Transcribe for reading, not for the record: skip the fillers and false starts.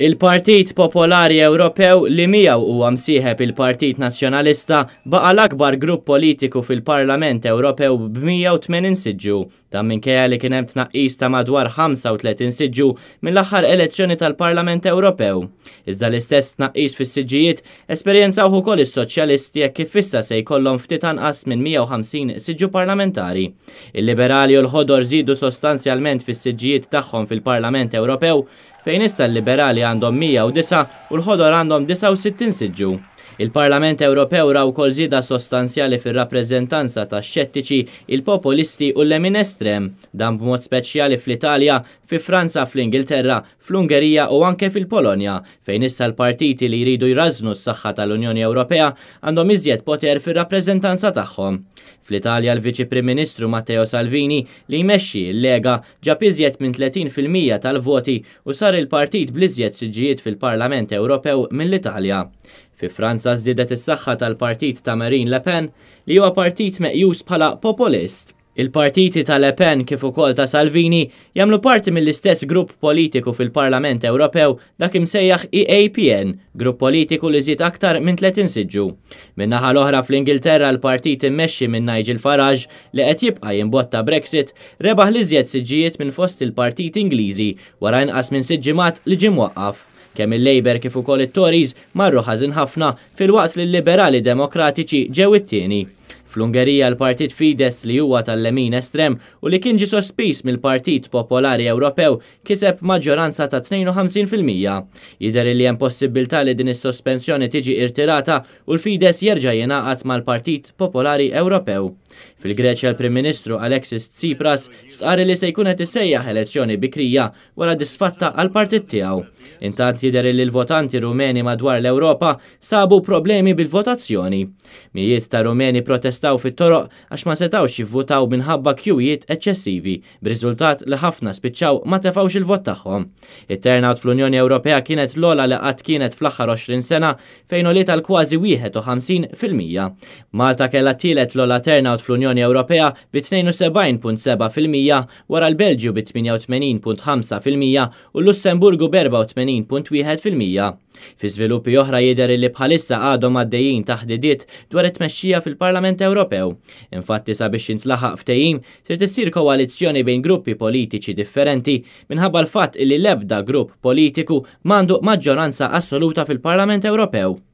Il-Partit Popolari Ewropew li miegħu huwa msieħeb il-Partit Nazzjonalista baqa' l-akbar grupp politiku fil-Parlament Ewropew b'180 siġġu. Dan minkejja li kien hemm tnaqqis ta' madwar 35 siġġu mill-aħħar elezzjoni tal-Parlament Ewropew. Iżda l-istess tnaqqis fis-siġġijiet esperjenzawh ukoll is-Soċjalisti hekk kif issa se jkollhom ftit anqas minn 150 siġġu parlamentari. Il-Liberali u l-Ħodor żiedu sostanzjalment fis-siġġijiet tagħhom fil-Parlament Ewropew fejn issa l-Liberali għandhom 109 u l-Ħodor għandhom 69 siġġu. Il-Parlament Ewropew ra wkoll żieda sostanzjali fir-rappreżentanza tax-xettiċi, il-populisti u l-lemin estrem, dan b'mod speċjali fl-Italja, fi Franza, fl-Ingilterra, fl-Ungerija u anke fil-Polonja, fejn issa l-partiti li jridu jrażżnu s-saħħa tal-Unjoni Ewropea għandhom iżjed poter fir-rappreżentanza tagħhom. Fl-Italja l-Viċi Prim Ministru Matteo Salvini, li jmexxi l-Lega, ġab iżjed minn 30% tal-voti u sar il-partit bl-iżjed siġġijiet fil-Parlament Ewropew mill-Italja. Fi Franza żdiedet is-saħħa tal-partit ta' Marine Le Pen, li huwa partit meqjus bħala populist. Il-partiti ta' Le Pen kif ukoll ta' Salvini jagħmlu parti mill-istess grupp politiku fil-Parlament Ewropew dak imsejjaħ EAPN, grupp politiku li żied aktar minn 30 siġġu. Min-naħa l-oħra fl-Ingilterra l-partit immexxi minn Nigel Farage li qed jibqa' jimbotta Brexit rebaħ l-iżjed siġġijiet minn fost il-partiti Ingliżi wara inqas minn sitt ġimgħat li ġie mwaqqaf. Kemm il-Labour kif ukoll it-Tories marru ħażin ħafna filwaqt li l-Liberali Demokratiċi ġew it-tieni. Fl-Ungerija l-Partit Fidesz li huwa tal-lemin estrem u li kien ġie sospiż mill-Partit Popolari Ewropew kiseb maġġoranza ta' 52%. Jidher li hemm possibbiltà li din is-sospensjoni tiġi irtirata u l-Fidesz jerġa' jingħaqad mal-Partit Popolari Ewropew. Fil-Greċja l-Prim Ministru Alexis Tsipras stqarr li se jkun qed isejjaħ elezzjoni bikrija wara disfatta għall-partit tiegħu. Intant jidher li l-votanti Rumeni madwar l-Ewropa sabu problemi bil-votazzjoni. Mijiet ta' Rumeni protestaw fit-toroq għax ma setgħux jivvutaw minħabba kjuwijiet eċċessivi, b'riżultat li ħafna spiċċaw ma tefgħux il-vot tagħhom. It-turnout fl-Unjoni Ewropea kienet l-ogħla li qatt kienet fl-aħħar 20 sena fejn għoliet għal kważi 51%. Malta kellha t-tielet l-ogħla turnout fl-Unjoni Ewropea bi 72.7% wara l-Belġju bi 88.5% u l-Lussemburgu b'84.1%. Fi żviluppi oħra jidher li bħalissa għadhom għaddejjin taħdidiet dwar it-tmexxija fil-Parlament Ewropew. Infatti sabiex jintlaħaq ftehim trid issir koalizzjoni bejn gruppi politiċi differenti minħabba l-fatt li l-ebda grupp politiku m'għandu maġġoranza assoluta fil-Parlament Ewropew.